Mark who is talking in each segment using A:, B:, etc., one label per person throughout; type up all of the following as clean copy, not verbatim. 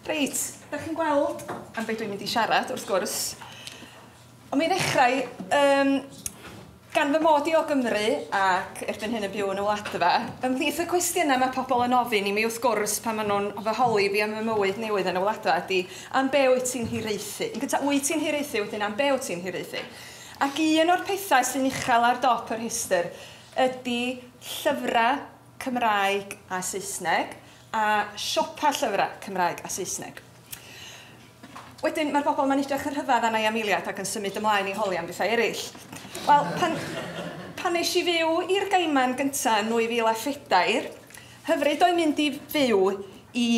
A: Reit, da chi'n gweld am beth dwi'n mynd i siarad, wrth gwrs. Ond mi ddechrau, gan fy mod i o Gymru ac erbyn hyn yn byw yn y Wladfa, ymhlith y cwestiynau mae pobl yn ofyn i mi wrth gwrs pan maen nhw'n fy holi fi am fy mywyd newydd yn y Wladfa ydy, am be wyt ti'n hiraethu? Yn gyntaf, wyt ti'n hiraethu, wedyn am be wyt ti'n hiraethu? Ac un o'r pethau sy'n uchel ar dop yr rhestr ydy llyfrau Cymraeg a Saesneg, a siopa llyfrau Cymraeg a Saesneg. Wedyn, mae'r bobl ma'n edrych yn rhyfedd arna i am eiliad ac yn symud ymlaen i holi am bethau eraill. Wel, pan nes i fyw i'r Gaiman gyntaf yn 2004, hyfryd oedd mynd i fyw i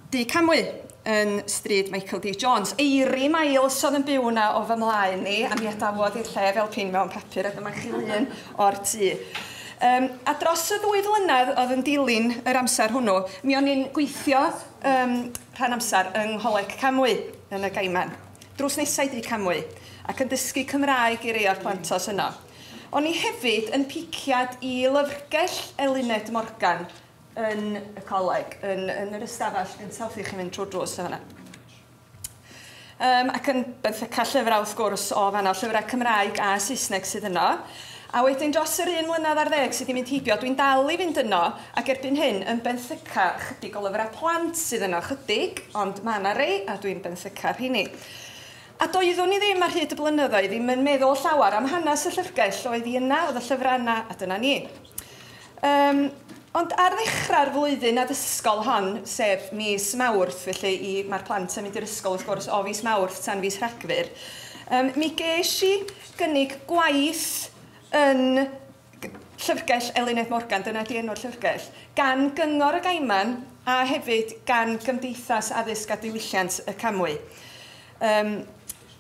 A: Dŷ Camwy yn stryd Michael D. Jones. Eiry Miles oedd yn byw yna o fy mlaen i, a mi adawodd i'r lle fel pin mewn papur, a dyma chi lun o'r tŷ. A dros y 2 flynedd oedd yn dilyn yr amser hwnnw, mi o'n i'n gweithio rhan amser yng Ngholeg Camwy yn y Gaiman, drws nesau Dŷ Camwy, ac yn dysgu Cymraeg i rei o'r plantos yno. O'n i hefyd yn piciad i lyfrgell Eluned Morgan yn y coleg, yn yr ystafell gyntaf wrth i chi fynd trwy'r drws yn fan'na. Ac yn benthyca llyfrau wrth gwrs o fan'na, llyfrau Cymraeg a Saesneg sydd yno. A wedyn dros yr 1 mlynedd ar ddeg sydd wedi mynd heibio, dwi'n dal i fynd yno, ac erbyn hyn yn benthyca chydig o lyfrau plant sydd yno, chydig, ond mae yna rei, a dwi'n benthyca rheini. A doeddwn i ddim ar hyd y blynyddoedd ddim yn meddwl llawer am hanes y llyfrgell, oedd hi yna, oedd y llyfrau yna, a dyna ni. Ond ar ddechrau'r flwyddyn addysgol hon, sef mis Mawrth, felly mae'r plant yn mynd i'r ysgol wrth gwrs o fis Mawrth tan fis Rhagfyr, mi ges i gynnig gwaith yn llyfrgell Eluned Morgan, dyna di enw'r llyfrgell, gan Gyngor y Gaiman a hefyd gan Gymdeithas Addysg a Diwylliant y Camwy.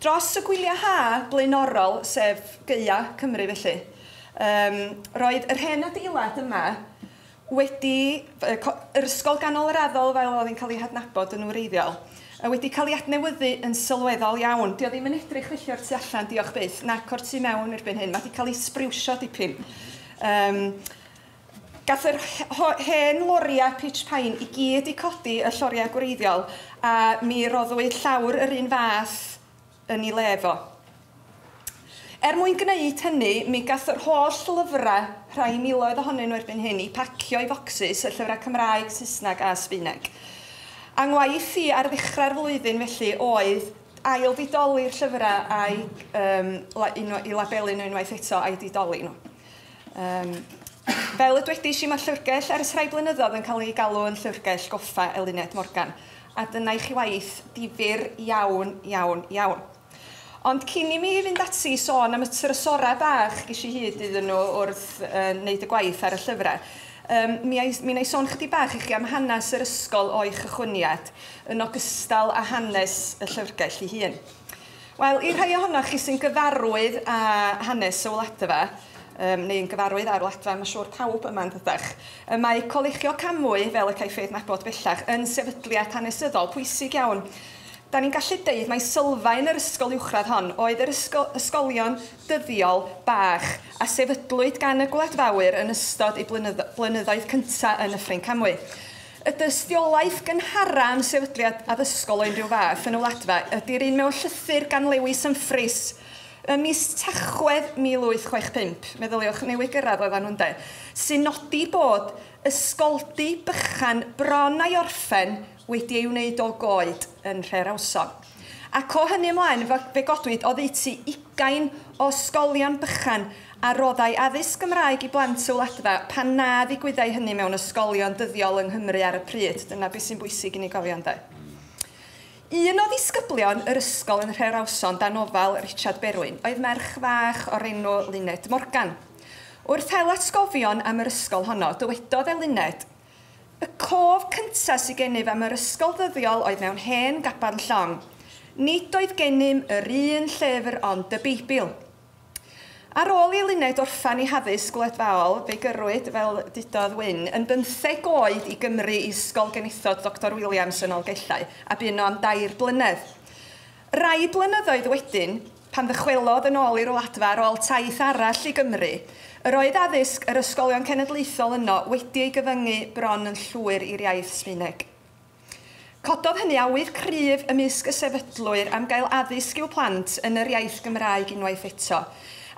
A: Dros y gwyliau ha blaenorol, sef Gaea Cymru felly, roedd yr hen adeilad yma wedi, yr ysgol ganolraddol fel oedd hi'n cael ei hadnabod yn wreiddiol, wedi cael ei adnewyddu yn sylweddol iawn. Dio ddim yn edrych felly o'r tu allan, diolch byth, nac o'r tu mewn erbyn hyn. Mae wedi cael ei sbriwsio dipyn. Gath yr hen loriau pitch pine i gyd i codi y lloriau gwreiddiol, a mi roddwyd llawr yr un fath yn ei le fo. Er mwyn gwneud hynny, mi gath yr holl lyfrau, rhai miloedd ohonyn nhw erbyn hyn, i pacio i focsys y llyfrau Cymraeg, Saesneg a Sbaeneg. A ngwaith i ar ddechrau'r flwyddyn felly oedd ail didoli'r llyfrau a'i i labelu nhw unwaith eto a'i didoli nhw. Fel y dwedais i, mae llyfrgell ers rhai blynyddoedd yn cael ei galw yn llyfrgell goffa Eluned Morgan. A dyna i chi waith difyr iawn, iawn, iawn. Ond cyn i mi fynd ati i sôn am y trysorau bach ges i hyd iddyn nhw wrth wneud y gwaith ar y llyfrau, mi wna i sôn chydig bach i chi am hanes yr ysgol o'i chychwyniad, yn ogystal â hanes y llyfrgell ei hun. Wel, i'r rhai ohonoch chi sy'n gyfarwydd â hanes y Wladfa, neu'n gyfarwydd â'r Wladfa, mae'n siŵr pawb yma'n dydach, mae Colegio Camwy, fel y caiff ei adnabod bellach, yn sefydliad hanesyddol pwysig iawn. Da ni'n gallu deud mai sylfaen yr ysgol uwchradd hon oedd yr ysgolion dyddiol bach a sefydlwyd gan y gwladfawyr yn ystod eu blynyddoedd cyntaf yn Nyffryn Camwy. Y dystiolaeth gynhara am sefydliad addysgol o unrhyw fath yn y Wladfa ydy'r un mewn llythyr gan Lewis Humphreys ym mis Tachwedd 1865, meddyliwch, newydd gyrraedd oedden nhw'n de, sy'n nodi bod ysgoldy bychan bron a'i orffen wedi ei wneud o goed yn Nhrerawson. Ac o hynny ymlaen, fe godwyd oddeutu 20 o ysgolion bychan a roddai addysg Gymraeg i blant y Wladfa pan na ddigwyddai hynny mewn ysgolion dyddiol yng Nghymru ar y pryd. Dyna beth sy'n bwysig i ni gofio ynde. Un o ddisgyblion yr ysgol yn Nhrerawson dan ofal Richard Berwyn oedd merch fach o'r enw Luned Morgan. Wrth hel atgofion am yr ysgol honno, dywedodd Eluned, "Y cof cyntaf sydd gennyf am yr ysgol ddyddiol oedd mewn hen gaban llong. Nid oedd gennym yr un llyfr ond y Beibl." Ar ôl i Eluned orffen ei haddysg gwladfaol, fe gyrrwyd, fel dudodd Wyn, yn 15 oed i Gymru i Ysgol Genethod Dr Williams yn Nolgellau, a bu yno am 3 blynedd. Rai blynyddoedd wedyn, pan ddychwelodd yn ôl i'r Wladfa ar ôl taith arall i Gymru, yr oedd addysg yr ysgolion cenedlaethol yno wedi ei gyfyngu bron yn llwyr i'r iaith Sbaeneg. Cododd hynny awydd cryf ymysg y sefydlwyr am gael addysg i'w plant yn yr iaith Gymraeg unwaith eto.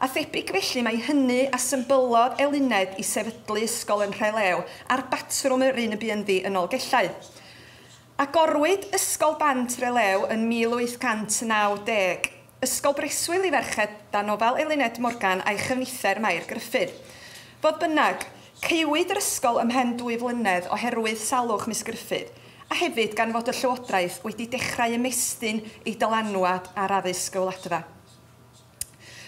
A: A thebyg felly mae hynny a symbylodd Eluned i sefydlu ysgol yn Nhrelew ar batrwm yr un y bu ynddi yn Nolgellau. Agorwyd Ysgol Band Trelew yn 1890, ysgol breswyl i ferched dan ofal Eluned Morgan a'i chyfnither Mair Gruffydd. Fodd bynnag, caewyd yr ysgol ymhen 2 flynedd oherwydd salwch Miss Gruffydd, a hefyd gan fod y Llywodraeth wedi dechrau ymestyn ei dylanwad ar addysg y wladfa.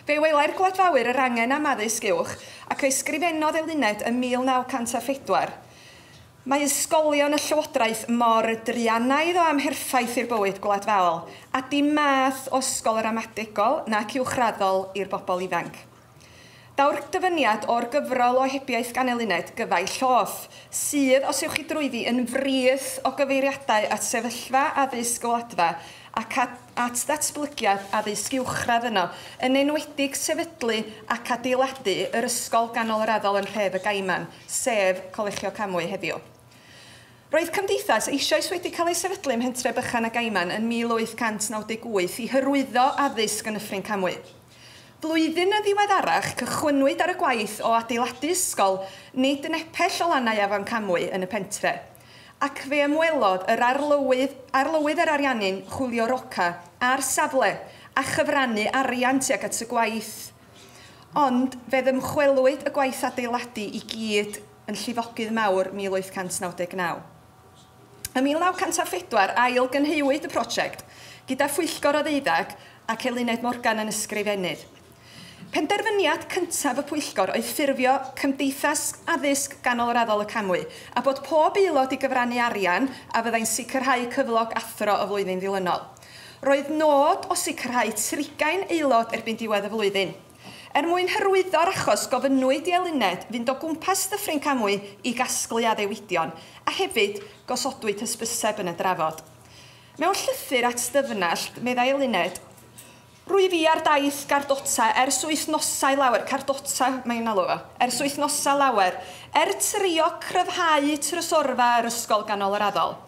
A: Fe welai'r gwladfawyr yr angen am addysg uwch ac fe ysgrifennodd Eluned ym 1904. Mae ysgolion y Llywodraeth mor druanaidd o amherffaith i'r bywyd gwladfaol, a dim math o ysgol ramadegol nac uwchraddol i'r bobl ifanc. Daw'r dyfyniad o'r gyfrol o ohebiaeth gan Eluned, Gyfaill Hoff, sydd, os ewch chi drwyddi, yn frith o gyfeiriadau at sefyllfa addysg y wladfa ac at ddatblygiad addysg uwchradd yno, yn enwedig sefydlu ac adeiladu yr ysgol ganolraddol yn nhref y Gaiman, sef Colegio Camwy heddiw. Roedd cymdeithas eisoes wedi cael ei sefydlu ym mhentre bychan y Gaiman yn 1898 i hyrwyddo addysg yn Nyffryn Camwy. Blwyddyn yn ddiweddarach, cychwynnwyd ar y gwaith o adeiladu ysgol nid yn epell o lannau Afon Camwy yn y pentre. Ac fe ymwelodd yr arlywydd yr Ariannin, Julio Roca, ar safle a chyfrannu arian tuag at y gwaith. Ond fe ddymchwelwyd y gwaith adeiladu i gyd yn llifogydd mawr 1899. Ym 1904, ail gynheuwyd y prosiect gyda phwyllgor o ddeuddag ac Eluned Morgan yn ysgrifennydd. Penderfyniad cyntaf y pwyllgor oedd ffurfio Cymdeithas Addysg Ganolraddol y Camwy a bod pob aelod i gyfrannu arian a fyddai'n sicrhau cyflog athro y flwyddyn ddilynol. Roedd nod o sicrhau 30 aelod erbyn diwedd y flwyddyn. Er mwyn hyrwyddo'r achos, gofynnwyd i Eluned fynd o gwmpas Dyffryn Camwy i gasglu addewidion, a hefyd gosodwyd hysbyseb yn y drafod. Mewn llythyr at Dyfnallt, meddai Eluned, "Rwyf fi ar daith gardota ers wythnosau lawer," cardota mae'n alw fo, "ers wythnosau lawer, er trio cryfhau trysorfa yr ysgol ganolraddol.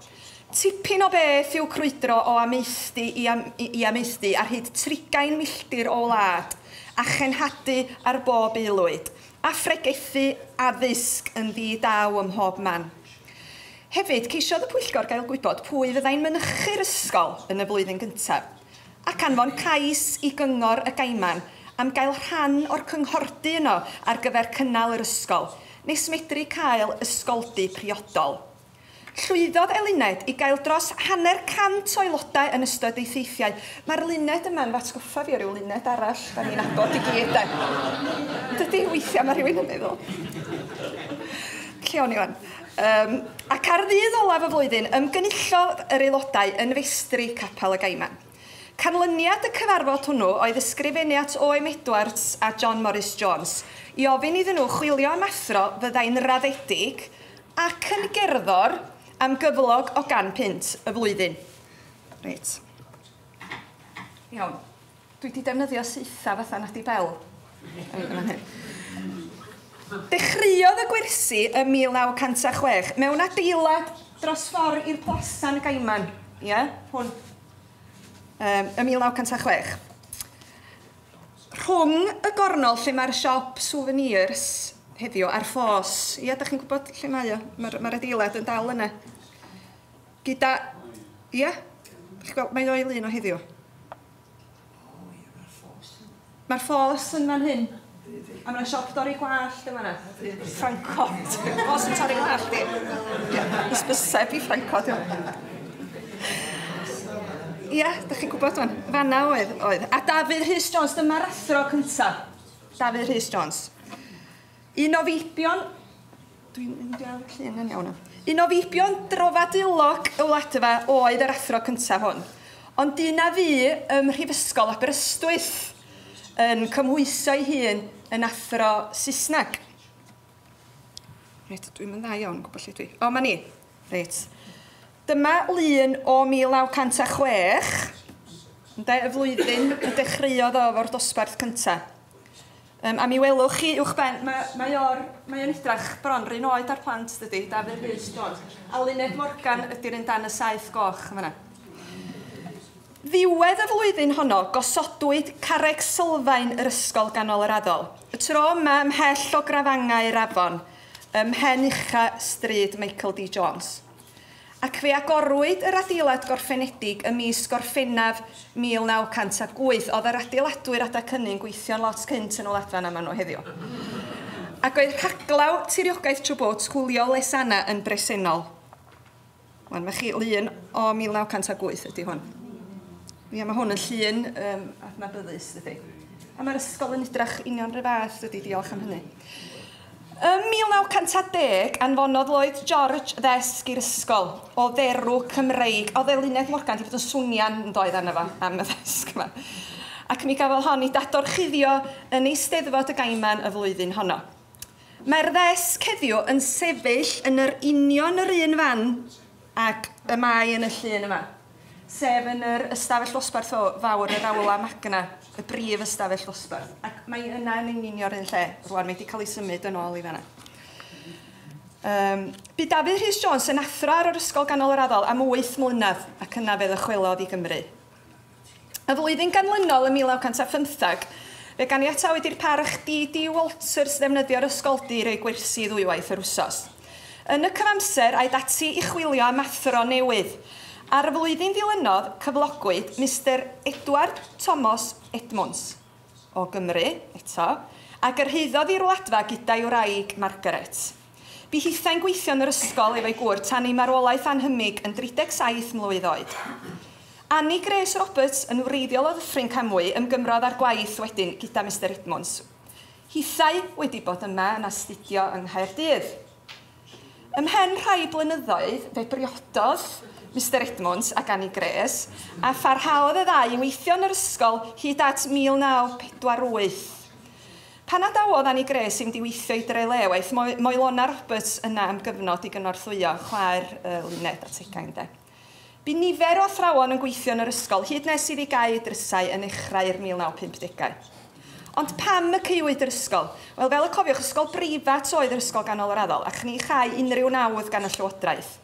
A: Tipyn o beth yw crwydro o amaethdy i amaethdy ar hyd 30 milltir o wlad, a chenhadu ar bob aelwyd, a phregethu addysg yn ddi-daw ym mhob man." Hefyd, ceisiodd y pwyllgor gael gwybod pwy fyddai'n mynychu'r ysgol yn y flwyddyn gyntaf, ac anfon cais i gyngor y Gaiman am gael rhan o'r cynghordy yno ar gyfer cynnal yr ysgol, nes medru cael ysgoldy priodol. Llwyddodd Eluned i gael dros 150 o aelodau yn ystod ei theithiau. Mae'r Luned yma'n f'atgoffa fi o ryw Luned arall, da ni'n nabod i gyd, de. Dydy, weithiau mae rhywun yn meddwl. Lle o'n i wan? Ac ar ddydd olaf y flwyddyn, ymgynullodd yr aelodau yn festri Capel y Gaiman. Canlyniad y cyfarfod hwnnw oedd ysgrifennu at O.M. Edwards a John Morris Jones i ofyn iddyn nhw chwilio am athro fyddai'n raddedig ac yn gerddor am gyflog o £100 y flwyddyn. Reit. Iawn. Dwi wedi defnyddio saetha fatha Nadi Bell. Dechreuodd y gwersi ym 1906 mewn adeilad dros ffordd i'r Plasa'n Gaiman. Ie, yeah, hwn. Ym 1906. Rhwng y gornol lle mae'r siop souvenirs heddiw a'r ffos. Ie, da chi'n gwybod lle mae o? Mae'r adeilad yn dal yna. Gyda... Ie? Chi'n gweld, mae o'i lun o heddiw. Mae'r ffos yn fan hyn. A mae'na siop dorri gwallt yma yna. Ffrancod. Ffos yn torri gwallt i. Hysbyseb i Ffrancod. Ie, da chi'n gwybod wan. Fanna oedd. A Dafydd Rhys Jones, dyma'r athro cyntaf. Dafydd Rhys Jones. Un o feibion... Dwi'n mynd i ar y llun yn iawn. Un o feibion drofadilog y wladfa oedd yr athro cyntaf hwn. Ond un a fu ym Mhrifysgol Aberystwyth yn cymhwyso ei hun yn athro Saesneg. Reit, dwi'n mynd dda iawn, gwybod lle dwi. O, ma ni. Reit. Dyma lun o 1906, ynde, y flwyddyn y dechreuodd o efo'r dosbarth cyntaf. A mi welwch chi uwchben, mae o'n edrach bron r'un oed â'r plant, dydy, Dafydd Rhys Jones. A Luned Morgan ydy'r un dan y saeth goch yn fan'na. Ddiwedd y flwyddyn honno, gosodwyd carreg sylfaen yr ysgol ganol yr addol. Y tro yma ymhell o grafangau'r afon, ym mhen ucha stryd Michael D. Jones. Ac fe agorwyd yr adeilad gorffenedig ym mis Gorffennaf 1908. Oedd yr adeiladwyr adag hynny'n gweithio'n lot cynt yn y Wladfa na maen nhw heddiw. Ac oedd rhaglaw tiriogaeth Chubut, Julio Lezana, yn bresennol. Wan, mae chi lun o 1908 ydy hwn. Ia, mae hwn yn llun adnabyddus, dydy. A mae'r ysgol yn edrach union rhyw fath, dydy, diolch am hynny. Ym 1910, anfonodd Lloyd George ddesg i'r ysgol o dderw Cymreig. Oedd Eluned Morgan wedi bod yn swnian yn doedd arno fo am y ddesg yma. Ac mi gafodd hon ei dadorchuddio yn Eisteddfod y Gaiman y flwyddyn honno. Mae'r ddesg heddiw yn sefyll yn yr union yr un fan ac y mae yn y llun yma, sef yn yr ystafell ddosbarth o fawr yr Aula Magna, y brif ystafell ddosbarth. Ac mae yna yn union yr un lle. Rwan, mae wedi cael ei symud yn ôl i fanna. Bu Dafydd Rhys Jones yn athro ar yr Ysgol Ganol yr Addol am 8 mlynedd ac yna fe ddychwelodd i Gymru. Y flwyddyn ganlynol ym 1915, fe ganiatawyd i'r parch D.D. Walters ddefnyddio'r ysgoldy i roi gwersi ddwywaith yr wsos. Yn y cyfamser, aed ati i chwilio am athro newydd. Ar y flwyddyn ddilynodd, cyflogwyd Mr Edward Thomas Edmunds o Gymru, eto, a gyrhaeddodd i'r Wladfa gyda'i wraig Margaret. Bu hithau'n gweithio yn yr ysgol efo'i gŵr tan ei marwolaeth anhymig yn 37 mlwydd oed. Annie Grace Roberts, yn wreiddiol o Ddyffryn Camwy, ymgymrodd â'r gwaith wedyn gyda Mr Edmunds. Hithau wedi bod yma yn astudio yng Nghaerdydd. Ymhen rhai blynyddoedd, fe briododd Mr Edmunds ac Annie Grace, a pharhaodd y ddau i weithio yn yr ysgol hyd at 1948. Pan adawodd Annie Grace i fynd i weithio i Drelew, aeth Moelona Roberts yna am gyfnod i gynorthwyo chwaer Luned a Tegan, de. Bu nifer o athrawon yn gweithio yn yr ysgol hyd nes iddi gau ei drysau yn nechrau'r 1950au. Ond pam y caewyd yr ysgol? Wel, fel y cofiwch, ysgol breifat oedd yr Ysgol Ganol yr Addol, ac ni chai unrhyw nawdd gan y Llywodraeth.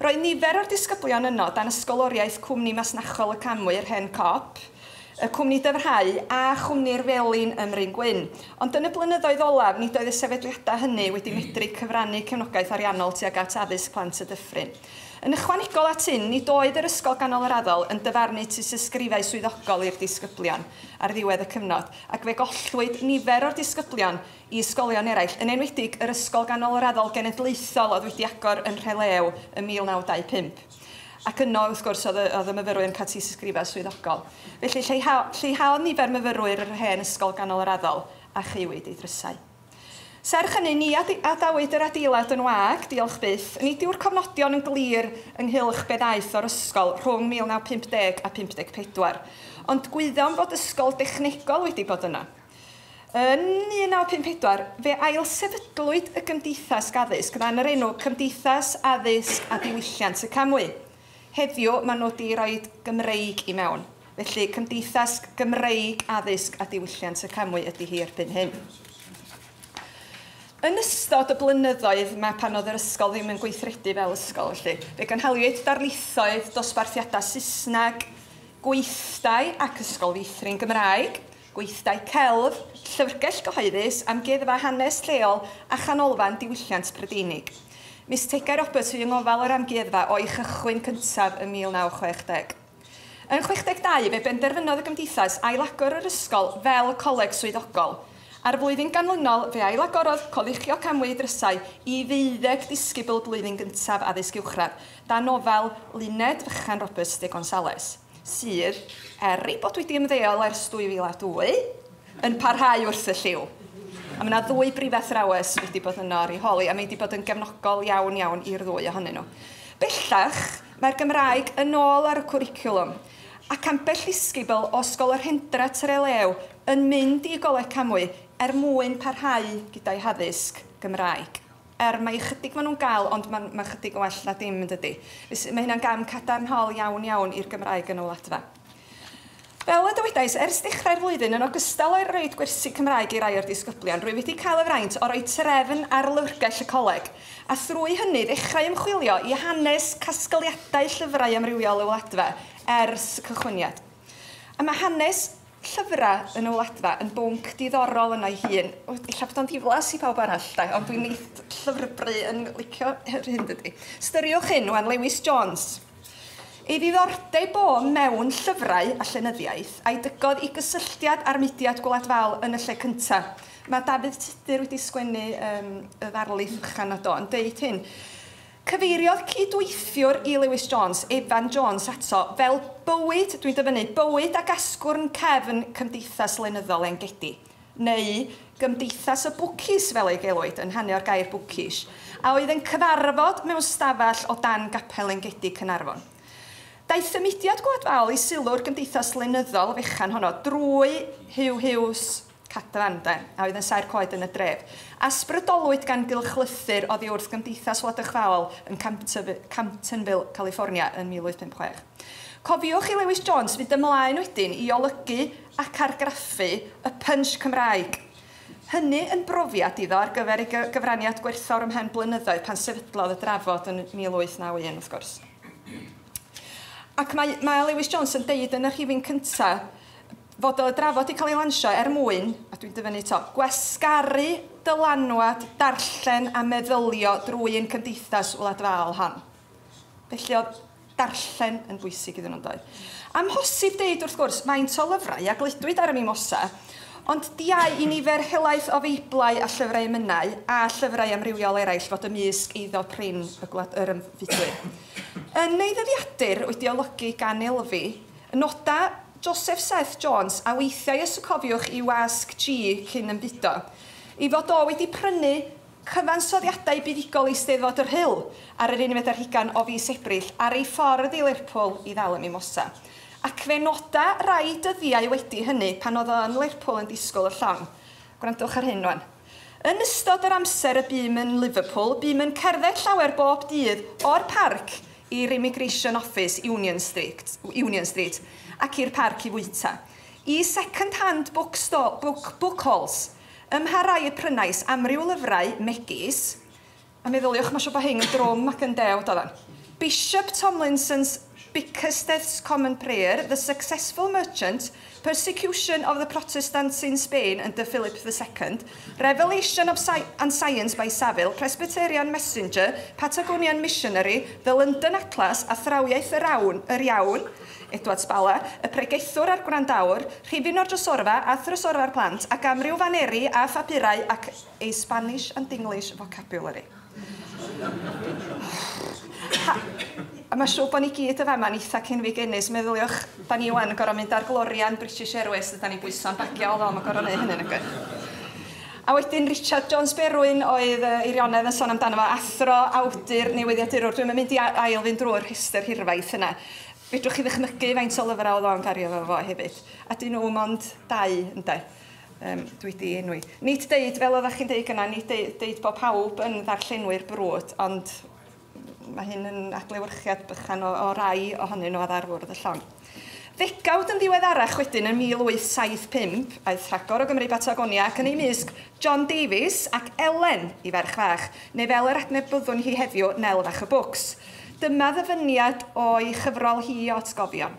A: Roedd nifer o'r disgyblion yno dan ysgoloriaeth Cwmni Masnachol y Camwy, yr hen Cop, y Cwmni Dyfrhau a Chwmni'r Felin ym Mryn Gwyn. Ond yn y blynyddoedd olaf, nid oedd y sefydliadau hynny wedi medru cyfrannu cefnogaeth ariannol tuag at addysg plant y dyffryn. Yn ychwanegol at hyn, nid oedd yr Ysgol Ganol yr Addol yn dyfarnu tystysgrifau swyddogol i'r disgyblion ar ddiwedd y cyfnod, ac fe gollwyd nifer o'r disgyblion i ysgolion eraill, yn enwedig yr Ysgol Ganol yr Addol Genedlaethol oedd wedi agor yn Rhelew ym 1925. Ac yno, wrth gwrs, oedd y myfyrwyr yn cael tystysgrifau swyddogol. Felly lleihaodd nifer myfyrwyr yr hen Ysgol Ganol yr Addol a chaewyd ei drysau. Serch hynny, ni adawyd yr adeilad yn wag, diolch byth. Nid yw'r cofnodion yn glir ynghylch be ddaeth o'r ysgol rhwng 1950 a 54, ond gwyddom fod ysgol dechnegol wedi bod yna. Yn 1954, fe ailsefydlwyd y Gymdeithas Addysg dan yr enw Cymdeithas Addysg a Diwylliant y Camwy. Heddiw, maen nhw wedi rhoi Gymreig i mewn. Felly, Cymdeithas Gymreig Addysg a Diwylliant y Camwy ydy hi erbyn hyn. Yn ystod y blynyddoedd yma pan oedd yr ysgol ddim yn gweithredu fel ysgol, felly, fe gynhaliwyd darlithoedd, dosbarthiadau Saesneg, gweithdai ac ysgol feithrin Gymraeg, gweithdai celf, llyfrgell gyhoeddus, amgueddfa hanes lleol a chanolfan diwylliant Prydeinig. Miss Tegai Roberts fu yng ngofal yr amgueddfa o'i chychwyn cyntaf ym 1960. Yn 62, fe benderfynodd y gymdeithas ailagor yr ysgol fel coleg swyddogol. A'r flwyddyn ganlynol, fe ailagorodd Colegio Camwy drysau i 12 disgybl blwyddyn gyntaf addysg uwchradd, dan ofal Luned Fychan Roberts de Gonzales, sydd, er ei bod wedi ymddeol ers 2002, yn parhau wrth y lliw. A mae yna ddwy brifathrawes wedi bod yno ar ei holi, a mae wedi bod yn gefnogol iawn iawn i'r ddwy ohonyn nhw. Bellach, mae'r Gymraeg yn ôl ar y cwricwlwm, ac ambell ddisgybl o Ysgol yr Hendra Trelew yn mynd i Goleg Camwy er mwyn parhau gyda'i haddysg Gymraeg. Mae chydig maen nhw'n gael, ond mae chydig yn well na dim yn dydy. Mae hynna'n gam cadarnhaol iawn iawn i'r Gymraeg yn y Wladfa. Fel y dywedais, ers dechrau'r flwyddyn, yn ogystal â roid gwersi Cymraeg i rai o'r disgyblion, rwy wedi cael y fraint o roi trefn ar lyfrgell y coleg, a thrwy hynny ddechrau ymchwilio i hanes casgliadau llyfrau amrywiol y Wladfa ers y cychwyniad. A mae hanes llyfrau yn y Wladfa yn bwnc diddorol yno'i hun. Ella bod o'n ddiflas i pawb arall, de, ond dwi'n neith llyfrbru yn licio yr hyn dydy. Styriwch hyn, wan, Lewis Jones. Ei ddiddordeb o mewn llyfrau a llenyddiaeth a'i dygodd i gysylltiad â'r mudiad gwladfaol yn y lle cyntaf. Mae Dafydd Tudur wedi sgwennu y ddarlith fychan o do yn deud hyn. Cyfeiriodd cydweithiwr i Lewis Jones, Evan Jones, ato fel bywyd, dwi'n dyfynnu, bywyd ac asgwrn cefn cymdeithas lenyddol Engedi, neu gymdeithas y bwcis fel ei gelwid, yn hanu o'r gair bwcis, a oedd yn cyfarfod mewn stafell o dan gapel Engedi Caernarfon. Daeth y mudiad gwladfaol i sylw'r gymdeithas lenyddol fechan honno drwy Hugh Hughes Cadfan, de, a oedd yn saer coed yn y dref. Asbrydolwyd gan gylchlythyr oddi wrth Gymdeithas Wladychfaol yn Camptonville, California yn 1856. Cofiwch i Lewis Jones fynd ymlaen wedyn i olygu ac argraffu y Punch Cymraeg. Hynny yn brofiad iddo ar gyfer ei gyfraniad gwerthfawr ymhen blynyddoedd pan sefydlodd y drafod yn 1891, wrth gwrs. Ac mae Lewis Jones yn deud yn y rhifyn cyntaf fod y drafod wedi cael ei lansio er mwyn, a dwi'n dyfynnu to, gwasgaru dylanwad, darllen a meddylio drwy ein cymdeithas wladfaol hon. Felly oedd darllen yn bwysig iddyn nhw'n doedd. Amhosib deud wrth gwrs faint o lyfrau a gludwyd ar y Mimosa, ond diau i nifer helaeth o feiblau a llyfrau emynau a llyfrau amrywiol eraill fod ymysg eiddo prin y gwlad yr ymfudwyr. Yn ei ddyddiadur wedi olygu gan Elfi, noda Joseph Seth Jones, a weithiau os y cofiwch i wasg G cyn ymfudo, ei fod o wedi prynu cyfansoddiadau buddugol Eisteddfod yr Rhyl ar yr 21 o fis Ebrill ar ei ffordd i Lerpwl i ddal y Mimosa. Ac fe noda rai dyddiau wedi hynny pan oedd o yn Lerpwl yn disgwyl y llong. Gwrandwch ar hyn rwan. Yn ystod yr amser y bûm yn Liverpool, bûm yn cerdded llawer bob dydd o'r parc i'r Immigration Office, Union Street, ac i'r parc i fwyta. I second-hand book halls, ym mha rai y prynais amryw lyfrau megis, a meddyliwch, mae siŵr bod hyn yn drwm ac yn dew, doeddan. Bishop Tomlinson's Bickersteth's Common Prayer, The Successful Merchant, Persecution of the Protestants in Spain under Philip II, Revelation of and Science by Saville, Presbyterian Messenger, Patagonian Missionary, The London Atlas, Athrawiaeth yr Iawn, Edward Spala, y Pregethwr a'r Gwrandawr, Rhifyn o'r Drysorfa a Thrysorfa'r Plant, ac amryw faneri a phapurau ac a Spanish and English Vocabulary. A mae siŵr bod ni gyd y fama'n eitha cenfigenus. Meddyliwch, da ni wan yn gorfod mynd ar glorian British Airways, da ni'n bwyso'n bagiau, o, mae'n gorfod neud hynny, nag A wedyn Richard Jones Berwyn oedd Eirionedd yn sôn amdano fo, athro, awdur, newyddiadurwr. Dwi'n mynd i ail fynd drwy'r rhestr hirfaith yna. Fedrwch chi ddychmygu faint o lyfrau oedd o'n gario fo hefyd. A dyn nhw mond dau, ynde. Dwi di enwi. Nid deud, fel oeddech chi'n deud gyna, nid deud bod pawb yn ddarllenwyr brwd, ond mae hyn yn adlewyrchiad bychan o rai ohonyn nhw ar fwrdd y llong. Ddegawd yn ddiweddarach wedyn yn 1875, aeth rhagor o Gymru Batagonia ac yn ei mysg John Davies ac Ellen i ferch fach, neu fel yr adnabyddwn hi heddiw, Nel Fach y Bwcs. Dyma ddyfyniad o'i chyfrol hi o atgofion.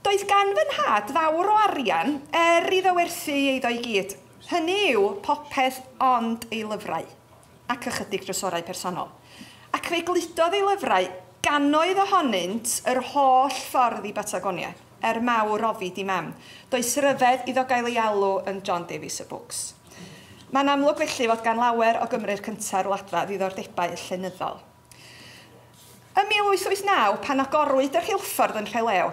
A: Doedd gan fy nhad fawr o arian er iddo werthu ei eiddo i gyd. Hynny yw popeth ond ei lyfrau ac ychydig drysorau personol. Ac fe gludodd ei lyfrau gannoedd ohonynt yr holl ffordd i Batagonia, er mawr ofid i mam. Does ryfedd iddo gael ei alw yn John Davies y Books. Mae'n amlwg felly fod gan lawer o Gymru'r cynta'r wladfa ddiddordebau llenyddol. Ym 1889, pan agorwyd y rheilffordd yn Rhelew,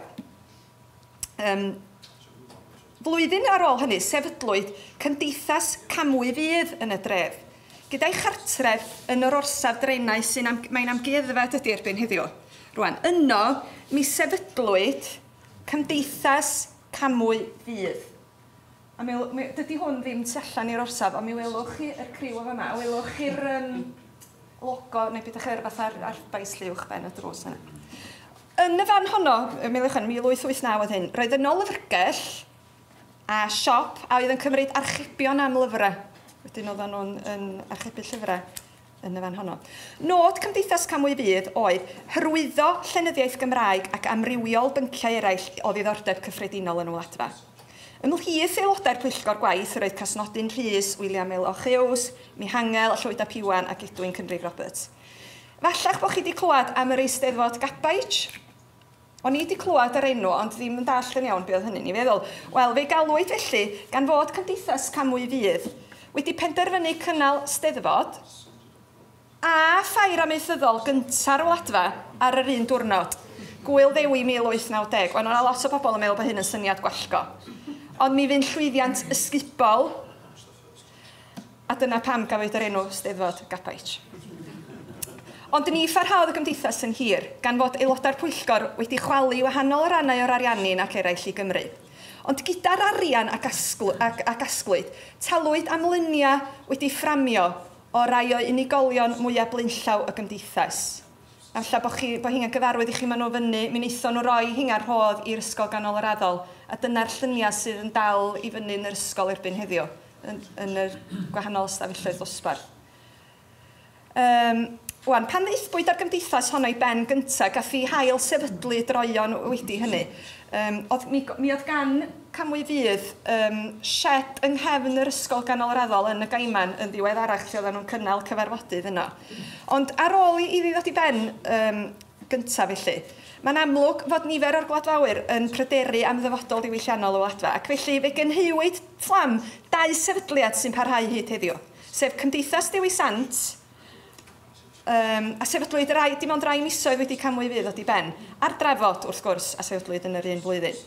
A: flwyddyn ar ôl hynny, sefydlwyd Cymdeithas Camwy Fydd yn y dref, gyda'i chartref yn yr orsaf drenau sy'n mae'n amgueddfa dydy erbyn heddiw. Rwan, yno, mi sefydlwyd Cymdeithas Camwy Fydd. A dydy hwn ddim tu allan i'r orsaf, ond mi welwch chi yr criw o fama, a welwch chi'r logo, neu beth ych fatha'r arfbais lliwch ben y drws yna. Yn y fan honno, 1889 oedd hyn, roedd yno lyfrgell a siop a oedd yn cymryd archebion am lyfrau. Wedyn oedden nhw'n yn archebu llyfrau yn y fan honno. Nod Cymdeithas Camwy Fydd oedd hyrwyddo llenyddiaeth Gymraeg ac amrywiol bynciau eraill o ddiddordeb cyffredinol yn y Wladfa. Ymhlith aelodau'r pwyllgor gwaith roedd Casnodyn Rhys, William L. Hughes, Mihangel, Llwyd ap Iwan ac Edwin Cynrig Roberts. Falla'ch bod chi wedi clywed am yr Eisteddfod Gabaij? O'n i wedi clywed yr enw, ond ddim yn dallt yn iawn be oedd hynny'n ei feddwl. Wel, fe galwyd felly gan fod Cymdeithas Camwy Fydd wedi penderfynu cynnal Steddfod a ffair amaethyddol gynta'r Wladfa ar yr un diwrnod. Gŵyl Ddewi 1890. Wel, o'na lot o bobl yn meddwl bod hyn yn syniad gwallgo. Ond mi fu'n llwyddiant ysgubol, a dyna pam gafwyd yr enw Steddfod Gabaij. Ond ni pharhaodd y gymdeithas yn hir, gan fod aelodau'r pwyllgor wedi chwalu wahanol rannau o'r Ariannin ac eraill i Gymru. Ond gyda'r arian a gasglwyd, talwyd am luniau wedi fframio o rai o unigolion mwyaf blaenllaw y gymdeithas. A falle bod chi, bod hynna'n gyfarwydd i chi, maen nhw fyny, mi wnaethon nhw roi hynna'r rhodd i'r ysgol ganol yr addol, a dyna'r lluniau sydd yn dal i fyny yn yr ysgol erbyn heddiw, yn yr gwahanol ystafelloedd dosbarth. Wan, pan ddaethpwyd â'r gymdeithas honno i ben gyntaf, gath ei hail sefydlu droeon wedi hynny. Mi oedd gan Camwy Fydd shed yng nghefn yr ysgol ganol yr addol yn y Gaiman yn ddiweddarach lle oedden nhw'n cynnal cyfarfodydd yno. Ond ar ôl iddi ddod i ben gyntaf felly, mae'n amlwg fod nifer o'r gwladfawyr yn pryderu am ddyfodol diwylliannol y Wladfa, ac felly fe gynheuwyd fflam dau sefydliad sy'n parhau hyd heddiw, sef Cymdeithas Dewi Sant, a sefydlwyd dim ond rai misoedd wedi Camwy Fydd ddod i ben, a'r Drafod, wrth gwrs, a sefydlwyd yn yr un flwyddyn.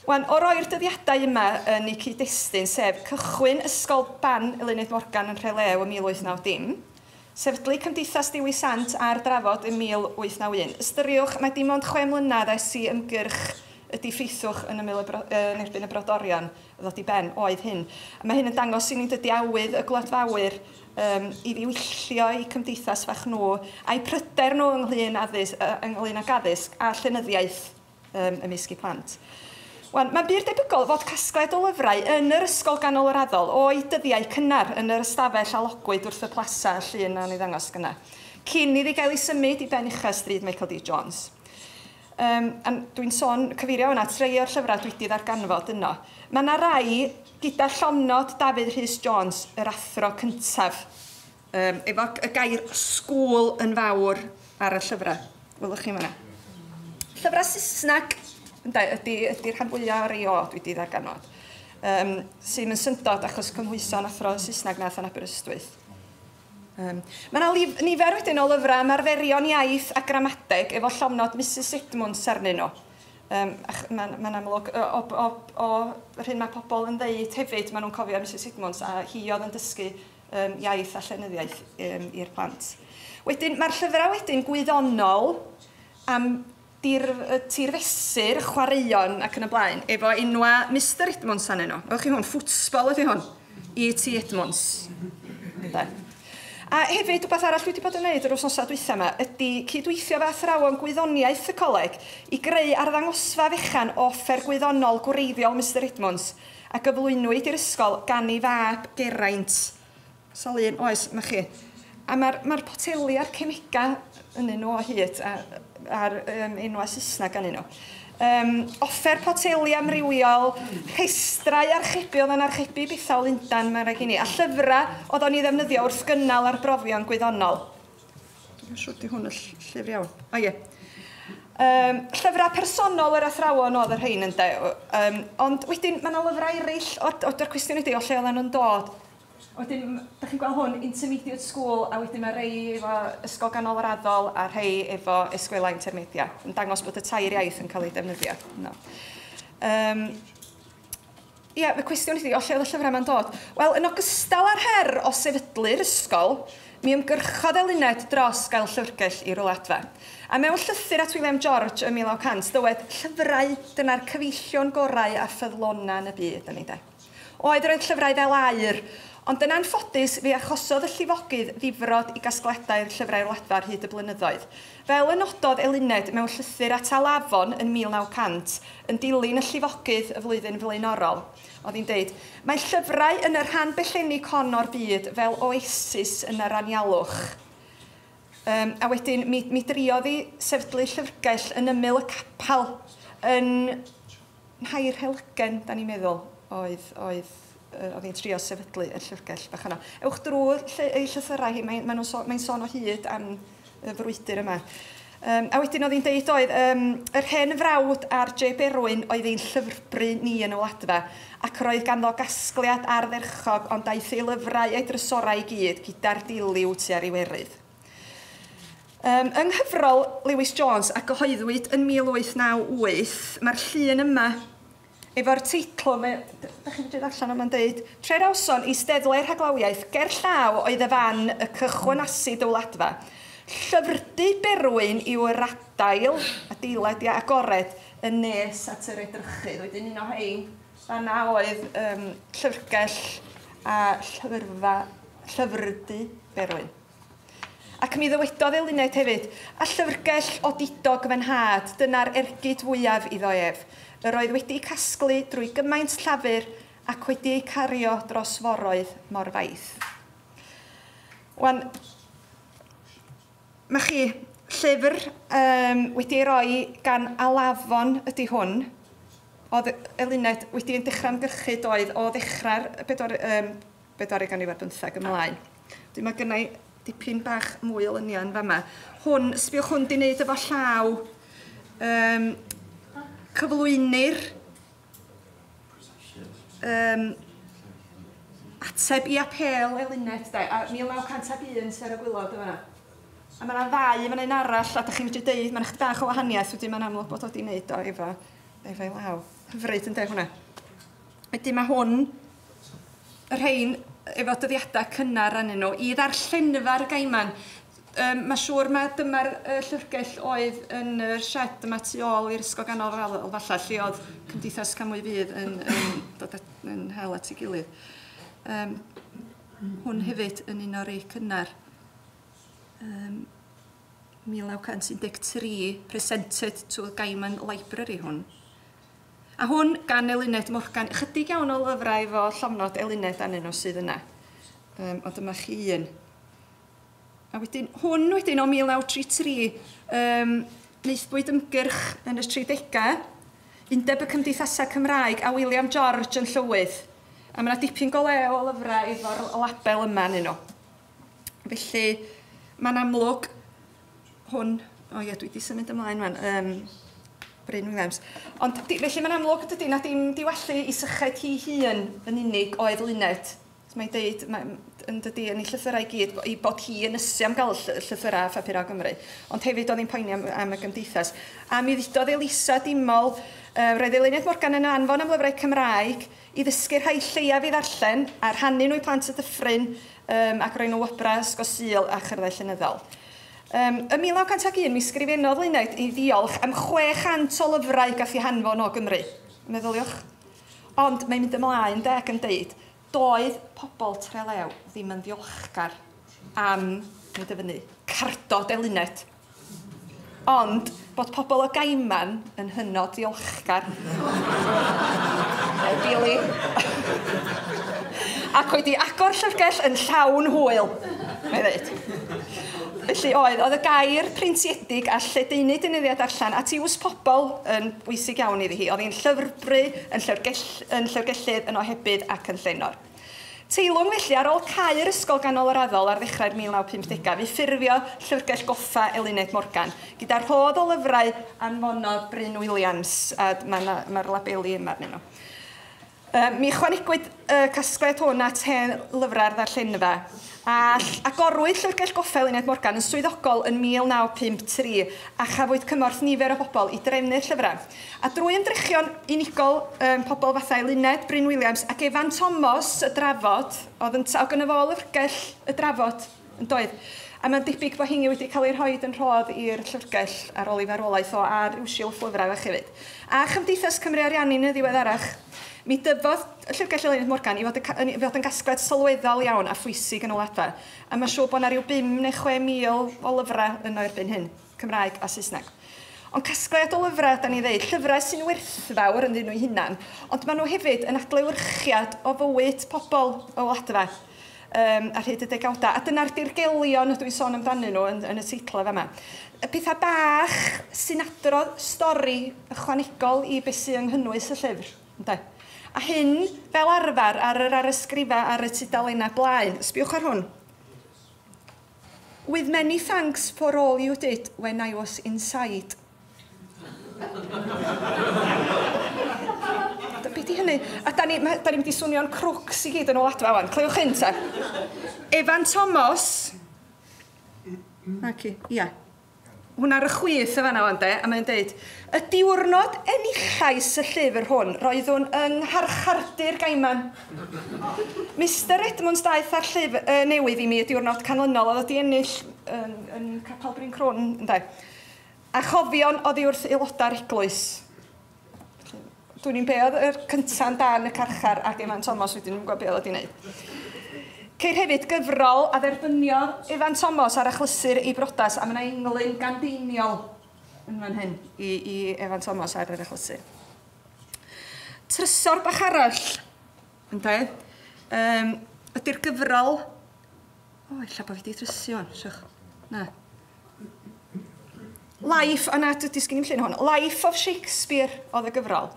A: Wan, o roi'r dyddiadau yma yn eu cyd-destun, sef cychwyn Ysgol Ban Eluned Morgan yn Rhelew ym 1890, sefydlu Cymdeithas Dewi Sant a'r Drafod ym 1891. Ystyriwch, mae dim ond 6 mlynedd ers i ymgyrch y diffeithwch yn erbyn y brodorion ddod i ben oedd hyn. A mae hyn yn dangos i ni dydy awydd y gwladfawyr i ddiwyllio eu cymdeithas fach nhw a'i pryder nhw ynglyn ag addysg a llenyddiaeth ymysg eu plant. Wan, mae'n bur debygol fod casgliad o lyfrau yn yr ysgol ganol yr addol o'i dyddiau cynnar yn yr ystafell a logwyd wrth y plasa llun na'n ei ddangos gyna, cyn iddi gael ei symud i ben ucha stryd Michael D. Jones. Dwi'n sôn cyfeirio yna at rai o'r llyfrau dwi wedi ddarganfod yno. Mae yna rai gyda llofnod Dafydd Rhys Jones, yr athro cyntaf, efo y gair school yn fawr ar y llyfrau. Welwch chi fan'na. Llyfrau Saesneg ydy'r rhan fwyaf o'r rei o dwi wedi ddarganfod. Sy'n yn syndod achos cymhwyso'n athro Saesneg nath yn Aberystwyth. Mae yna nifer wedyn o lyfrau am arferion iaith a gramadeg efo llofnod Mrs Edmunds arnyn nhw. Mae'n amlwg o'r hyn mae pobl yn ddeud hefyd, maen nhw'n cofio Mrs Edmunds a hi oedd yn dysgu iaith a llenyddiaeth i'r plant. Wedyn, mae'r llyfrau wedyn gwyddonol am tirfesur, chwaraeon ac yn y blaen, efo enwa Mr Edmunds arnyn nhw. Welwch chi hwn, ffwtsbol ydy hwn, E.T. Edmunds. A hefyd, rhywbeth arall dwi wedi bod yn gwneud yr wythnosau dwytha yma ydy cydweithio efo athrawon gwyddoniaeth y coleg i greu arddangosfa fechan o offer gwyddonol gwreiddiol Mr Edmunds a gyflwynwyd i'r ysgol gan ei fab Geraint. Sawl un oes, ma chi. A mae'r poteli a'r cemega yn nhw o hyd a'r enwau Saesneg yn nhw. Offer poteli amrywiol, rhestrau archebu, oedd yn archebu bethau o Lundan, mae'n rhaid i ni, a llyfrau oedd o'n ei ddefnyddio wrth gynnal arbrofion gwyddonol. Dwi'n siŵr di hwn y llyfr iawn. O ie. Llyfrau personol yr athrawon oedd y rhain ynde. Ond wedyn mae yna lyfrau eraill o'r cwestiwn ydy o lle oedden nhw'n dod. Wedyn, da chi'n gweld hwn, intermediate school, a wedyn mae rhai efo ysgol ganol yr addol a rhai efo escuela intermedia, yn dangos bod y tair iaith yn cael ei defnyddio. No. Ie, y cwestiwn ydy, o lle oedd y llyfrau yma'n dod? Wel, yn ogystal â'r her o sefydlu'r ysgol, mi ymgyrchodd Eluned dros gael llyfrgell i'r Wladfa. A mewn llythyr at William George ym 1900, dywed, llyfrau dyna'r cyfeillion gorau a ffyddlona yn y byd, yn ei de. Oedd, roedd llyfrau fel aur, Ond yn anffodus, fe achosodd y llifogydd ddifrod i gasgliadau'r llyfrau'r Wladfa ar hyd y blynyddoedd. Fel y nododd Eluned mewn llythyr at Alafon yn 1900, yn dilyn y llifogydd y flwyddyn flaenorol, oedd hi'n deud, mae llyfrau yn y rhan bellennig hon o'r byd fel oasis yn yr anialwch. A wedyn, mi driodd hi sefydlu llyfrgell yn ymyl y capel yn Nhair Helygen, da ni'n meddwl, oedd hi'n trio sefydlu y llyfrgell bach yno. Ewch drwy'r ei llythyrau hi, mae'n sôn o hyd am y frwydr yma. A wedyn oedd hi'n deud oedd, yr hen frawd ar J. Berwyn oedd ein llyfrbry ni yn y Wladfa, ac roedd ganddo gasgliad ardderchog, ond daeth ei lyfrau a'i drysorau i gyd gyda'r diliw tua'r Iwerydd. Yng nghyfrol Lewis Jones a gyhoeddwyd yn 1898, mae'r llun yma efo'r teitl, da chi'n medru darllen o, mae'n deud, Tre'r Awson eisteddle rhaglawiaeth ger llaw oedd y fan y cychwynasid y Wladfa. Llyfrdy Berwyn yw'r adail, adeilad ia, agored, yn nes at yr edrychydd. Wedyn un o hein, fanna oedd llyfrgell a llyfrdy Berwyn. Ac mi ddywedodd Eluned hefyd, a llyfrgell odidog fy nhad, dyna'r ergyd fwyaf iddo ef. Yr oedd wedi casglu drwy gymaint llafur ac wedi ei cario dros foroedd mor faith. Wan, mae chi llyfr wedi ei roi gan Alafon ydy hwn. Oedd Eluned wedi yn dechrau ymgyrchu doedd o ddechrau'r bedwaredd ganrif ar bymtheg ymlaen. Dwi'n mae gynna i dipyn bach mwy o luniau yn fama. Hwn, sbiwch hwn di wneud efo llaw. Cyflwynir ateb i apêl Eluned, de, a 1901 ser y gwylod yma. A mae yna ddau, mae yna un arall, a da chi'n medru deud, mae'n chydig bach o wahaniaeth, wedyn mae'n amlwg bod o wedi wneud o efo'i law. Hyfryd yn de hwnna. Wedyn mae hwn, y rhain, efo dyddiadau cynnar arnyn nhw, i ddarllenfa'r Gaiman. Mae siŵr mae dyma'r llyfrgell oedd yn y shed yma tu ôl i'r Ysgol Ganol falle, lle oedd Cymdeithas Camwy Fydd yn dod yn hel at ei gilydd. Hwn hefyd yn un o'r rei cynnar. 1913, presented to the Gaiman Library hwn. A hwn gan Eluned Morgan. Ychydig iawn o lyfrau efo llofnod Eluned arnyn nhw sydd yna. Ond dyma chi un. A wedyn, hwn wedyn o 1933, wnaethpwyd ymgyrch yn y 30au, Undeb y Cymdeithasau Cymraeg a William George yn llywydd. A mae yna dipyn go lew o lyfrau efo'r label yma arnyn nhw. Felly, mae'n amlwg hwn, o ie, dwi wedi symud ymlaen wan, Bryn Williams. Ond felly mae'n amlwg dydy na dim diwallu i syched hi hun yn unig oedd Luned. Mae'n deud, yn dydy, yn ei llythyrau i gyd, i bod hi yn ysu am gael llythyrau a phapurau Gymru. Ond hefyd oedd hi'n poeni am y gymdeithas. A mi ddudodd Elisa Dimol, roedd Eluned Morgan yn anfon am lyfrau Cymraeg i ddysgu'r rhai lleiaf i ddarllen a rhannu nhw i plant y dyffryn ac roi nhw wobrau Ysgol Sul a chyrddau llenyddol. Ym 1901, mi sgrifennodd Luned i ddiolch am 600 o lyfrau gath ei hanfon o Gymru. Meddyliwch. Ond mae'n mynd ymlaen de ac yn deud, doedd pobl Trelew ddim yn ddiolchgar am, nid dyfynnu, cardod Eluned. Ond bod pobl o Gaiman yn hynod ddiolchgar. Billy. Ac wedi agor llyfrgell yn llawn hwyl, mae'n dweud. Felly oedd y gair printiedig a lledaenu deunyddiau darllen at iws pobl yn bwysig iawn iddi hi. Oedd hi'n llyfrbry, yn llyfrgellydd, yn ohebydd ac yn llenor. Teilwng felly, ar ôl cau'r Ysgol Ganol yr Addol ar ddechrau'r 1950au, fi ffurfio Llyfrgell Goffa Eluned Morgan, gyda rhodd o lyfrau anfonodd Bryn Williams, a mae'r labeli yma arnyn nhw. Mi ychwanegwyd y casgliad hwn at hen lyfrau'r ddarllenfa, a agorwyd Llyfrgell Goffa Eluned Morgan yn swyddogol yn 1953 a chafwyd cymorth nifer o bobl i drefnu'r llyfrau. A drwy ymdrechion unigol pobl fatha Eluned, Bryn Williams ac Evan Thomas y drafod, oedd yn gynno fo lyfrgell y drafod yn doedd. A mae'n debyg bod hingy wedi cael ei rhoi yn rhodd i'r llyfrgell ar ôl ei farwolaeth o ar ryw silff lyfrau fach hefyd. A Chymdeithas Cymru Ariannin yn ddiweddarach. Mi dyfodd Llyfrgell Eluned Morgan i fod yn gasgliad sylweddol iawn a phwysig yn y Wladfa. A mae'n siŵr bod yna rhyw 5 neu 6 mil o lyfrau yno erbyn hyn, Cymraeg a Saesneg. Ond casgliad o lyfrau, da ni ddeud, llyfrau sy'n werthfawr ynddyn nhw'u hunan, ond maen nhw hefyd yn adlewyrchiad o fywyd pobl y Wladfa ar hyd y degawdau. A dyna'r dirgelion ydw i'n sôn amdanyn nhw yn y teitl fama. Y pethau bach sy'n adrodd stori ychwanegol i beth sy'n yng nghynnwys y llyfr. Ynde? A hyn, fel arfer, ar yr arysgrifau ar y tudalennau blaen. Sbiwch ar hwn. With many thanks for all you did when I was inside. Be di hynny? A da ni'n mynd i swnio'n crwcs i gyd yn y Wladfa wan. Clywch hyn ta. Evan Thomas. Naci, ia. Hwna ar y chwith y fanna wan de, a mae'n deud, y diwrnod enillais y llyfr hwn, roeddwn yng ngharchardy'r Gaiman. Mr Edmunds daeth â'r llyfr newydd i mi y diwrnod canlynol, oedd wedi ennill yn Capel Bryn Crwn, ynde. A chofion oddi wrth aelodau'r eglwys. Dwi'n i'n be oedd yr cynta'n dan y carchar ac Evan Thomas wedyn yn gwybod be oedd wedi wneud. Ceir hefyd gyfrol a dderbyniodd Evan Thomas ar achlysur ei brodas, a mae yna englyn gan Deiniol yn fan hyn i Evan Thomas ar yr achlysur. Trysor bach arall, ynde, ydy'r gyfrol... O, ella bod fi wedi drysu hwn, siwch. Na. Life, o na, dydy sgyn i'm llun hwn. Life of Shakespeare oedd y gyfrol.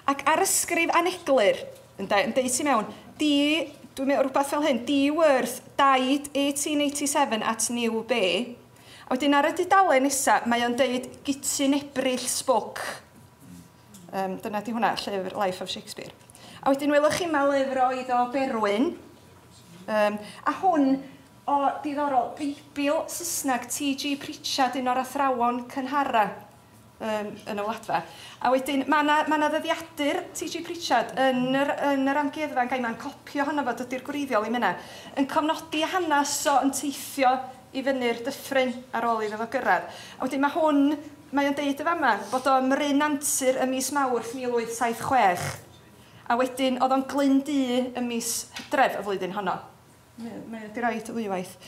A: Ac ar ysgrif aneglur, ynde, yn deud ti mewn, dwi'n meddwl rhywbeth fel hyn, D. Worth died 1887 at New Bay. A wedyn ar y dudalen nesaf, mae o'n deud Gutyn Ebrill spoke. Dyna di hwnna, llyfr Life of Shakespeare. A wedyn welwch chi ma lyfr oedd o Berwyn. A hwn o diddorol, Beibl Saesneg T.G. Pritchard, un o'r athrawon cynhara yn y Wladfa. A wedyn, mae yna ddyddiadur T.G. Pritchard yn yr amgueddfa yn Gaiman, copio ohono fo, dydy'r gwreiddiol i'm yna, yn cofnodi hanes o yn teithio i fyny'r dyffryn ar ôl iddo fo gyrraedd. A wedyn mae hwn, mae o'n deud y fama, bod o ym Mryn Antur ym mis Mawrth 1876. A wedyn, oedd o'n Glyn Du ym mis Hydref y flwyddyn honno. Mae o wedi rhoid ddwywaith.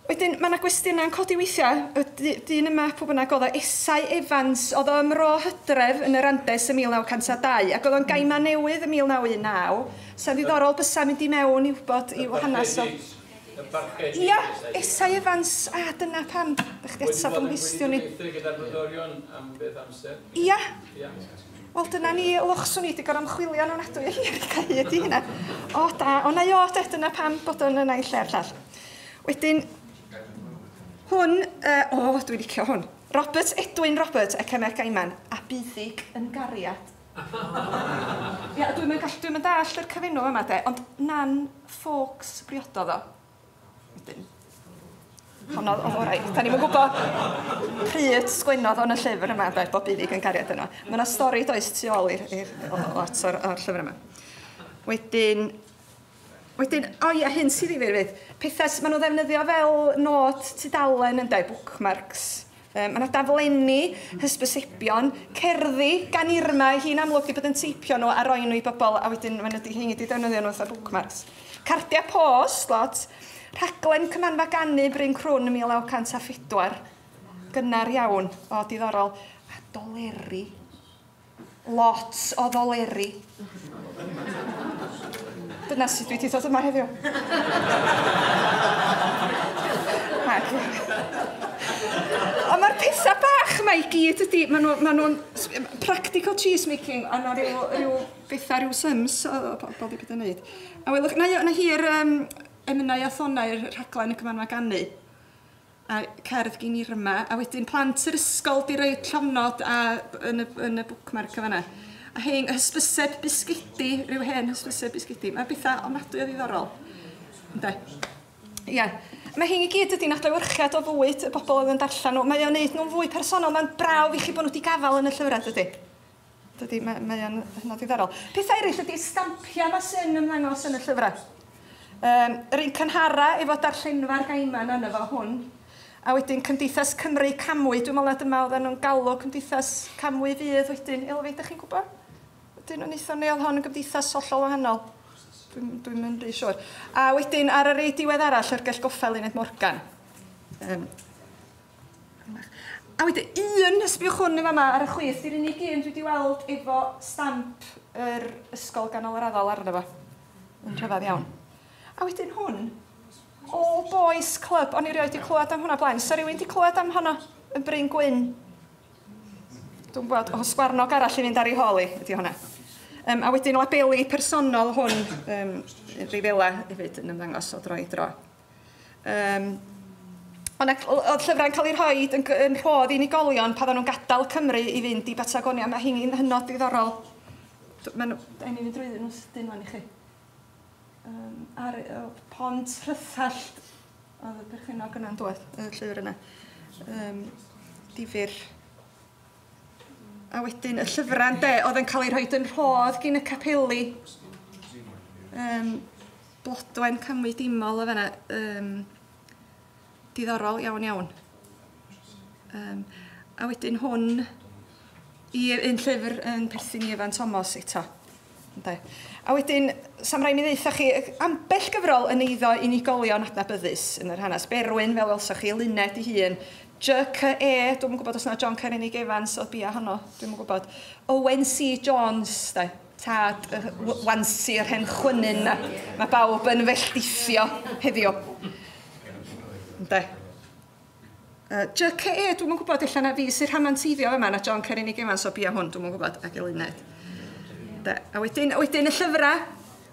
A: Wedyn, mae yna gwestiynau'n codi weithiau. Y dyn yma, pwy bynnag oedd o, Esau Evans, oedd o ym Mro Hydref yn yr Andes ym 1902, ac oedd o'n Gaiman Newydd ym 1919. Sa'n ddiddorol bysa mynd i mewn i wybod i'w hanes o. Ia, Esau Evans, a dyna pam. Dych chi atab yn nghwestiwn i.
B: Gyda'r brodorion am beth amser.
A: Ia. Wel, dyna ni, lochswn i wedi gorfod ymchwilio yn ofnadwy o hir i gael hyd i hynna. O, da, o na i o, dyna pam bod o'n yna i lle'r llall. Wedyn, hwn, o, dwi'n licio hwn. Robert Edwin Roberts, Ecemec Gaiman, a Buddig yn gariad. Ia, dwi'n mynd dallt yr cyfenw yma, de, ond Nan Fawkes briododd o. Wedyn, honno oedd orau. Da ni'm yn gwybod pryd sgwennodd o'n y llyfr yma, de, bod Buddig yn gariad yno. Mae yna stori does tu ôl i'r lot o'r llyfr yma. Wedyn, o ia, hyn sydd ddifyr fydd. Pethau maen nhw'n ddefnyddio fel nod tudalen yn dweud, bookmarks. Mae yna daflenni, hysbysebion, cerddi gan Irma, hi'n amlwg wedi bod yn teipio nhw a roi nhw i bobl, a wedyn maen nhw wedi defnyddio nhw fatha bookmarks. Cardiau post, lot. Rhaglen Cymanfa Ganu Bryn Crwn ym 1904. Gynnar iawn, o diddorol. A doleri. Lot o ddoleri. Dyna sut dwi wedi dod yma heddiw. Ond mae'r pethau bach yma i gyd ydy, maen nhw'n practical cheese making, a na rhyw bethau, rhyw syms o bobl wedi bod yn neud. A welwch, na hi'r emynau a thonau'r rhaglen y Cymanfa Ganu, a cerdd gin Irma, a wedyn plant yr ysgol di roi llofnod yn y bookmark o fanna. A hein, hysbyseb bisgedi, rhyw hen hysbyseb bisgedi. Mae bethau ofnadwy o ddiddorol. Ynde? Ia. Mae hyn i gyd ydy'n adlewyrchiad o fywyd y bobl oedd yn darllen nhw. Mae o'n neud nhw'n fwy personol. Mae'n brawf i chi bod nhw wedi gafael yn y llyfrau, dydy. Dydy, mae o'n hynod ddiddorol. Pethau eraill ydy stampiau ma sy'n ymddangos yn y llyfrau. Yr un cynhara efo darllenfa'r Gaiman yna fo hwn. A wedyn Cymdeithas Cymru Camwy. Dwi'n meddwl na dyma oedden nhw'n galw Cymdeithas Camwy fydd wedyn. Elfed, ydych chi'n gwybod? Ydyn nhw'n eithaf neu oedd hon yn gymdeithas hollol wahanol? Dwi'n mynd rhy siŵr. A wedyn ar yr ei diwedd arall, Llyfrgell Goffa Eluned Morgan. A wedyn un, sbiwch hwn yn fama ar y chwith, di'r unig un dwi wedi weld efo stamp yr ysgol ganol yr addol arno fo. Yn rhyfedd iawn. A wedyn hwn, All Boys Club, o'n i rioed wedi clywed am hwnna blaen. So rhywun wedi clywed am honno yn Bryn Gwyn? Dwi'n gwybod, o sgwarnog arall i fynd ar ei hôl i, ydy hwnna. A wedyn labeli personol hwn, rifela hefyd yn ymddangos o dro i dro. Oedd llyfrau'n cael eu rhoi yn rhodd i unigolion pan oedden nhw'n gadael Cymru i fynd i Batagonia. Mae hynny'n hynod ddiddorol. Mae'n ei fynd drwyddyn nhw'n sydyn wan i chi. Ar Pont Rhythallt oedd y perchennog yna'n dod, y llyfr yna. Difyr. A wedyn y llyfrau de, oedd yn cael ei rhoi yn rhodd gyn y capeli. Blodwen Camwy Dimol o fanna. Diddorol iawn iawn. A wedyn hwn, i un llyfr yn perthyn i Evan Thomas eto. Ynde. A wedyn, sam rai mi ddeutha chi, ambell gyfrol yn eiddo unigolion adnabyddus yn yr hanes. Berwyn, fel welsoch chi, Luned ei hun. J.C.E, dwi'm yn gwybod os na John Carenig Evans oedd bia honno, dwi'm yn gwybod. Owen C. Jones, de, tad y wansi yr hen chwynyn na. Mae bawb yn felldithio heddiw. Ynde. J.C.E, dwi'm yn gwybod, ella na fi sy'n rhamanteiddio yma, na John Carenig Evans o bia hwn, dwi'm yn gwybod, ac Eluned. A wedyn y llyfrau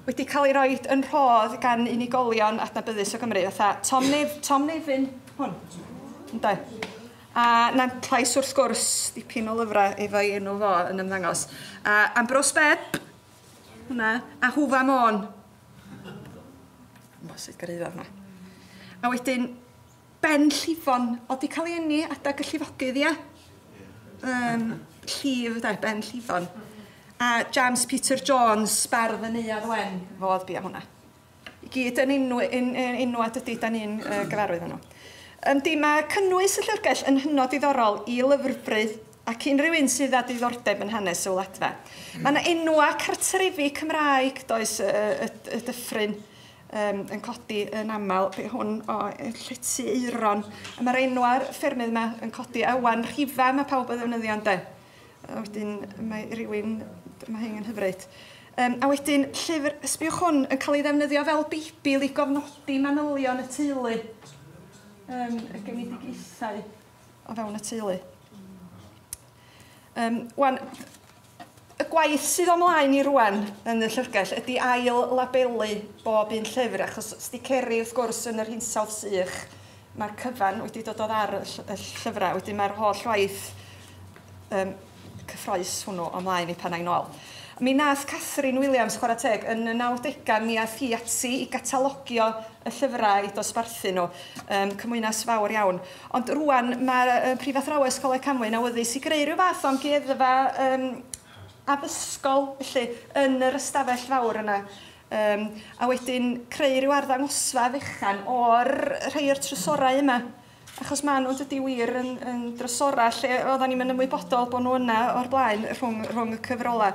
A: wedi cael ei roi yn rhodd gan unigolion adnabyddus o Gymru, fatha Tom Nefyn, hwn. Ynde. A Nantlais wrth gwrs, dipyn o lyfrau efo'i enw fo yn ymddangos. A Ambrose Bebb, hwnna, a Hwfa Môn. Bo, sut gyrhaeddodd hwnna. A wedyn Ben Llifon, oedd di cael ei eni adag y llifogydd, ia? Llif, de, Ben Llifon. A James Peter Jones, bardd y Neuadd Wen, fo oedd bia hwnna. I gyd yn enwa dydy, da ni'n gyfarwydd nhw. Yndi, mae cynnwys y llyfrgell yn hynod diddorol i lyfrbryd ac unrhyw un sydd â diddordeb yn hanes y wladfa. Mae yna enwa cartrefi Cymraeg, does, y dyffryn yn codi yn aml, be hwn o Llety Eiron. A mae'r enwa'r ffermydd yma yn codi awan rhifa mae pawb yn ddefnyddio, ynde. A wedyn mae rhywun, mae hyn yn hyfryd. A wedyn llyfr, sbiwch hwn, yn cael ei ddefnyddio fel Beibl i gofnodi manylion y teulu. Y genedigaethau o fewn y teulu. Wan, y gwaith sydd ymlaen i rwan yn y llyfrgell ydy ail labelu bob un llyfr, achos sticeri wrth gwrs yn yr hinsawdd sych, mae'r cyfan wedi dod o ddar y llyfrau, wedyn mae'r holl waith cyffroes hwnnw ymlaen i pan ai'n ôl. Mi nath Catherine Williams, chwarae teg, yn y 90au mi ath hi ati i gatalogio y llyfrau i dosbarthu nhw. Cymwynas fawr iawn. Ond rwan mae'r prifathrawes Coleg Camwy yn awyddus i greu rhyw fath o amgueddfa addysgol, felly, yn yr ystafell fawr yna. A wedyn creu rhyw arddangosfa fechan o'r rhai o'r trysorau yma. Achos maen nhw'n dydy wir yn drysorau lle oedden ni'n mynd ymwybodol bod nhw yna o'r blaen rhwng y cyfrolau.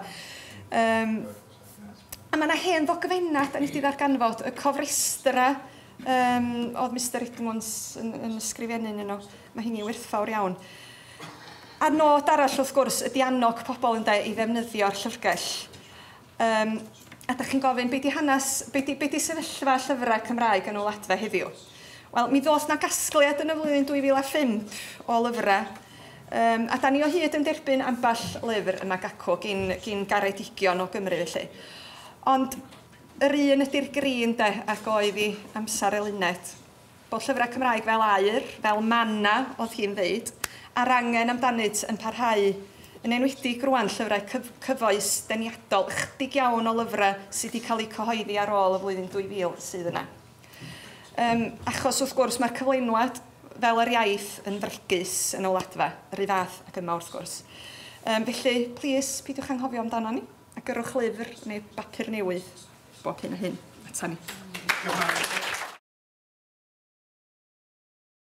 A: A mae yna hen ddogfennau, da ni wedi ddarganfod, y cofrestra oedd Mr Edmunds yn ysgrifennu nhw. Mae hynny'n werthfawr iawn. A nod arall wrth gwrs ydy annog pobl ynde i ddefnyddio'r llyfrgell. A da chi'n gofyn, be di hanes, be di sefyllfa llyfrau Cymraeg yn y wladfa heddiw? Wel, mi ddoth na gasgliad yn y flwyddyn 2005 o lyfrau. A da ni o hyd yn derbyn ambell lyfr yma gacw gyn garedigion o Gymru felly. Ond yr un ydy'r grin de, ac oedd i amser Eluned. Bod llyfrau Cymraeg fel aur, fel manna, oedd hi'n ddeud, a'r angen amdanynt yn parhau, yn enwedig rwan llyfrau cyfoes deniadol, chydig iawn o lyfrau sydd wedi cael eu cyhoeddi ar ôl y flwyddyn 2000 sydd yna. Achos wrth gwrs mae'r cyflenwad fel yr iaith yn fregus yn y wladfa, yr un fath ac yma wrth gwrs. Felly, plis, peidiwch anghofio amdano ni, a gyrrwch lyfr neu bapur newydd bob hyn a hyn ata ni.